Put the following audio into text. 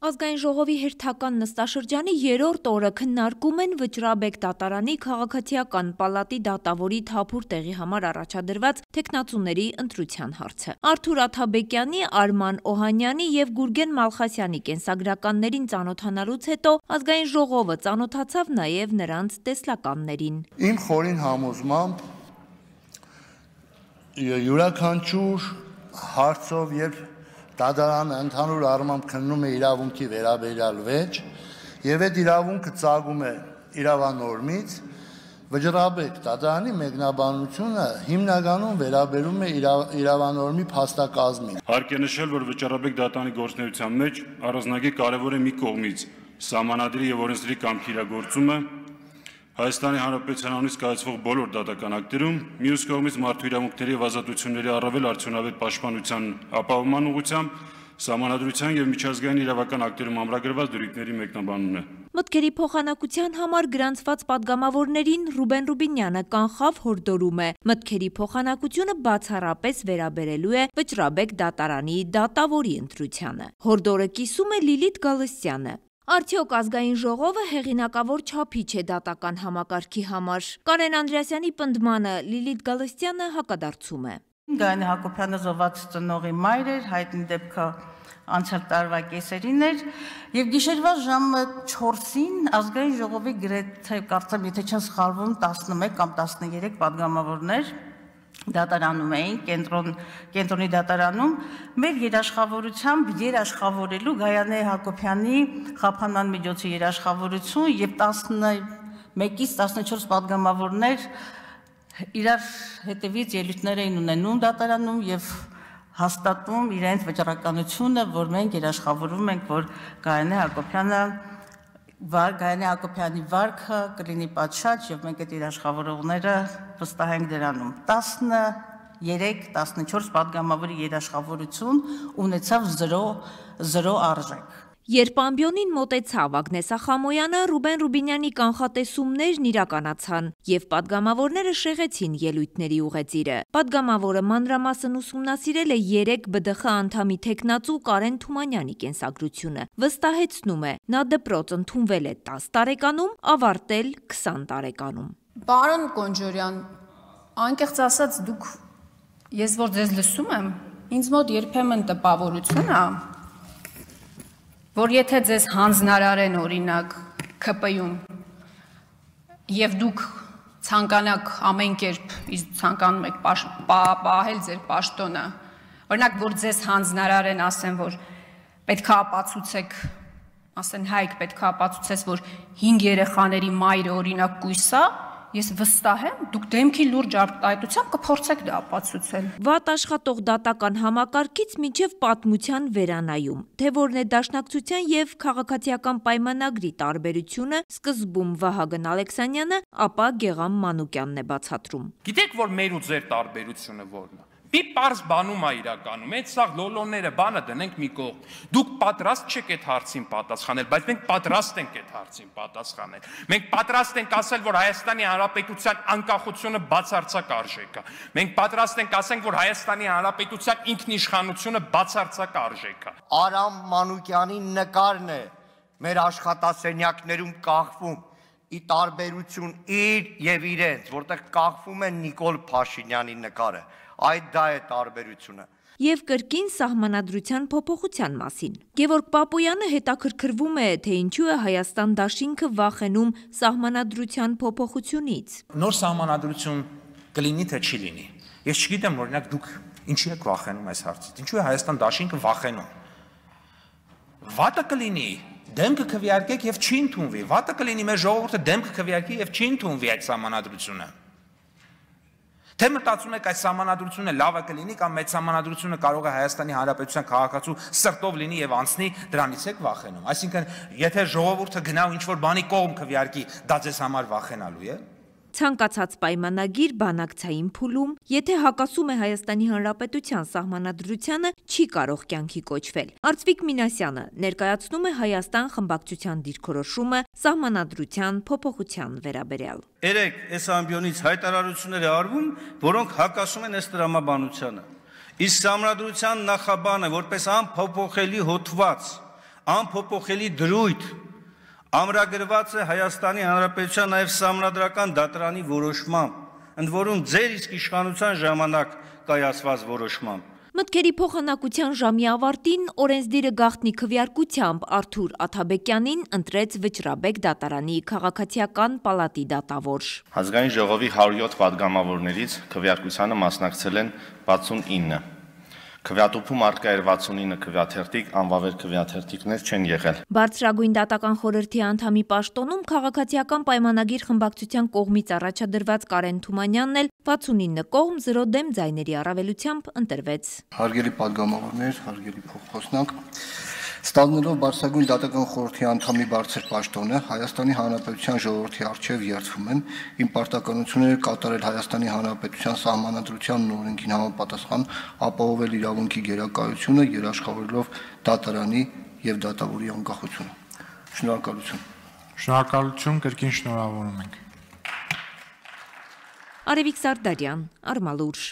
Ազգային ժողովի հերթական նստաշրջանի երրորդ օրը քննարկում են Վճռաբեկ դատարանի քաղաքացիական պալատի դատավորի թափուր տեղի համար առաջադրված թեկնածուների ընտրության հարցը։ Արթուր Աթաբեկյանի, Արման Օհանյանի և Գուրգեն Մալխասյանի կենսագրականներին ծանոթանալուց հետո Ազգային ժողովը ծանոթացավ նաև նրանց տեսլականներին։ Իմ խորին համոզմամբ յուրաքանչյուր հարցով երբ դատարանը ընդհանուր առմամբ քննում է իրավունքի վերաբերյալ վեճ եւ այդ իրավունքը ծագում է իրավանորմից, Վճռաբեկ դատարանի մեկնաբանությունը հիմնականում վերաբերում է իրավանորմի փաստակազմին։ Հարկ է նշել, որ Վճռաբեկ դատարանի գործունեության մեջ առանձնագի կարևոր է մի կողմից սահմանադրի եւ օրենսդրի կամքի իրագործումը Հայաստանի Հանրապետության անունից կայացվող բոլոր դատական ակտերում, մյուս կողմից մարդու իրավունքների եւ ազատությունների առավել արդյունավետ պաշտպանության ապահովման ուղղությամբ Սահմանադրության եւ միջազգային իրավական ակտերում ամրագրված դրույթների մեկնաբանումն է։ Մտքերի փոխանակության համար գրանցված падգամավորներին Ռուբեն Ռուբինյանը կանխավ հորդորում է։ Մտքերի փոխանակությունը բացառապես վերաբերելու է Վճռաբեկ դատարանի դատավորի ընտրությանը։ Հորդորը կիսում է Լիլիթ Գալստյանը։ Արդյոք Ազգային ժողովը հեղինակավոր չափիչ է դատական համակարգի համար։ Կարեն Անդրեասյանի պնդմանը Լիլիթ Գալստյանը հակադարձում է։ Գայանե Հակոբյանը զոհված ծնողի մայր էր, հայտնի դեպքը անցյալ տարվա կեսերին էր, եւ գիշերվա ժամը 4-ին Ազգային ժողովի գրեթե կարծեմ, եթե չեմ սխալվում, 11 կամ 13 падգամավորներ դատարանում էին, կենտրոնի դատարանում, մեր երաշխավորությամբ երաշխավորելու Գայանե Հակոբյանի խափանման միջոցի երաշխավորություն եւ 11-ից 14 падգամավորներ իրար հետևից ելույթներ էին ունենում դատարանում եւ հաստատում իրենց վճռականությունը, որ մենք երաշխավորում ենք, որ Գայանե Հակոբյանի վարքը կլինի պատշաճ եւ մենք այդ երաշխավորողները վստահ ենք դրանում։ 13-14 падգամավորի երաշխավորություն ունեցավ 0 արժեք։ Երբ ամբիոնին մոտեցավ Ագնես Ախամոյանը, Ռուբեն Ռուբինյանի կանխատեսումներն իրականացան եւ падգամավորները շեղեցին ելույթների ուղեծիրը։ Падգամավորը մանրամասն ուսումնասիրել է 3 ԲԴԽ անդամի թեկնածու Կարեն Թումանյանի կենսագրությունը։ Վստահեցնում է, նա դպրոց ընդունվել է 10 տարեկանում, ավարտել 20 տարեկանում։ Պարոն Կոնջորյան, անկեղծ ասած ես որ ձեզ լսում եմ, ինձ մոտ երբեմն տպավորություն է, որ եթե ձեզ հանձնարարեն օրինակ ՔՊ-ում եւ դուք ցանկանաք ամեն կերպ ցանկանում եք պահել ձեր պաշտոնը, օրինակ որ ձեզ հանձնարարեն, ասեն որ պետք է ապացուցեք, ասեն Հայկ պետք է ապացուցես, որ 5 երեխաների մայրը օրինակ կույս է, ես վստահ եմ, դուք դեմքի լուրջ արտահայտությամբ կփորձեք դա ապացուցել։ Վատ աշխատող դատական համակարգից մինչև պատմության վերանայում, թե որն է դաշնակցության եւ քաղաքացիական պայմանագրի տարբերությունը, սկզբում Վահագն Ալեքսանյանը, ապա Գեգամ Մանուկյանն է բացատրում։ Գիտեք, որ մեր ու ձեր տարբերությունը որն է։ Մի պարզ բանում է իրականում, այդ սաղ լոլոները բանը դնենք մի կողմ։ Դուք պատրաստ չեք այդ հարցին պատասխանել, բայց մենք պատրաստ ենք այդ հարցին պատասխանել։ Մենք պատրաստ ենք ասել, որ Հայաստանի Հանրապետության անկախությունը բացարձակ արժեք է։ Մենք պատրաստ ենք ասենք, որ Հայաստանի Հանրապետության ինքնիշխանությունը բացարձակ արժեք է։ Արամ Մանուկյանի նկարն է մեր աշխատասենյակներում կախվում, ի տարբերություն իր եւ իրենց, որտեղ կախվում է Նիկոլ Փաշինյանի նկարը։ Այդ դա է տարբերությունը։ Եվ կրկին սահմանադրության փոփոխության մասին։ Գևորգ Պապոյանը հետաքրքրվում է, թե ինչու է Հայաստան դաշինքը վախենում սահմանադրության փոփոխությունից։ Նոր սահմանադրություն կլինի թե չի լինի։ Ես չգիտեմ, օրինակ դուք ինչի եք վախենում այս հարցից։ Ինչու է Հայաստան դաշինքը վախենում։ Վատը կլինի, դեմքը քվեարկեք եւ չի ընդունվի։ Վատը կլինի մեր ժողովուրդը դեմքը քվեարկի եւ չի ընդունվի այդ սահմանադրությունը։ Թե մտածում եք այս սահմանադրությունը լավը կլինի կամ մեծ սահմանադրությունը կարող է Հայաստանի Հանրապետության քաղաքացու սրտով լինի եւ անցնի, դրանից եք վախենում։ Այսինքն, եթե ժողովուրդը գնա ու ինչ-որ բանի կողմ քվեարկի, դա ձեզ համար վախենալու է։ Ցանկացած պայմանագիր բանակցային փուլում, եթե հակասում է Հայաստանի Հանրապետության սահմանադրությանը, չի կարող կյանքի կոչվել։ Արծվիկ Մինասյանը ներկայացնում է Հայաստան խմբակցության դիրքորոշումը սահմանադրության փոփոխության վերաբերյալ։ Երեք այս ամբիոնից հայտարարություններ է արվում, որոնք հակասում են ըստ տրամաբանությանը։ Իսկ սահմանադրության նախաբանը որպես անփոփոխելի հոդված անփոփոխելի դրույթ ամրագրված է Հայաստանի Հանրապետության նաև Սահմանադրական դատարանի որոշմամբ, ընդ որում ձեր իսկ իշխանության ժամանակ կայացված որոշմամբ։ Մտքերի փոխանակության ժամի ավարտին օրենսդիրը գաղտնի քվեարկությամբ Արթուր Աթաբեկյանին ընտրեց Վճռաբեկ դատարանի քաղաքացիական պալատի դատավոր։ Ազգային ժողովի 107 պատգամավորներից քվեարկությանը մասնակցել են 69։ Քվեատուփում արկա էր 69 քվեաթերթիկ, անվավեր քվեաթերթիկներ չեն եղել։ Բարձրագույն դատական խորհրդի անդամի պաշտոնում քաղաքացիական պայմանագիր խմբակցության կողմից առաջադրված Կարեն Թումանյանն էլ 69 կողմ 0 դեմ ձայների առավելությամբ ընտրվեց։ Հարգելի պատգամավորներ, հարգելի փոխխոսնակ, ստանալով բարձրագույն դատական խորհրդի անդամի բարձր պաշտոնը Հայաստանի Հանրապետության ժողովրդի առջև երդվում եմ իմ պարտականությունները կատարել Հայաստանի Հանրապետության Սահմանադրությանն ու օրենքին համապատասխան ապահովել իրավունքի գերակայությունը, երաշխավորելով դատարանի եւ դատավորի անկախությունը։ Շնորհակալություն։ Շնորհակալություն, կրկին շնորհավորում ենք։ Արևիկ Սարդարյան, Արմալուր։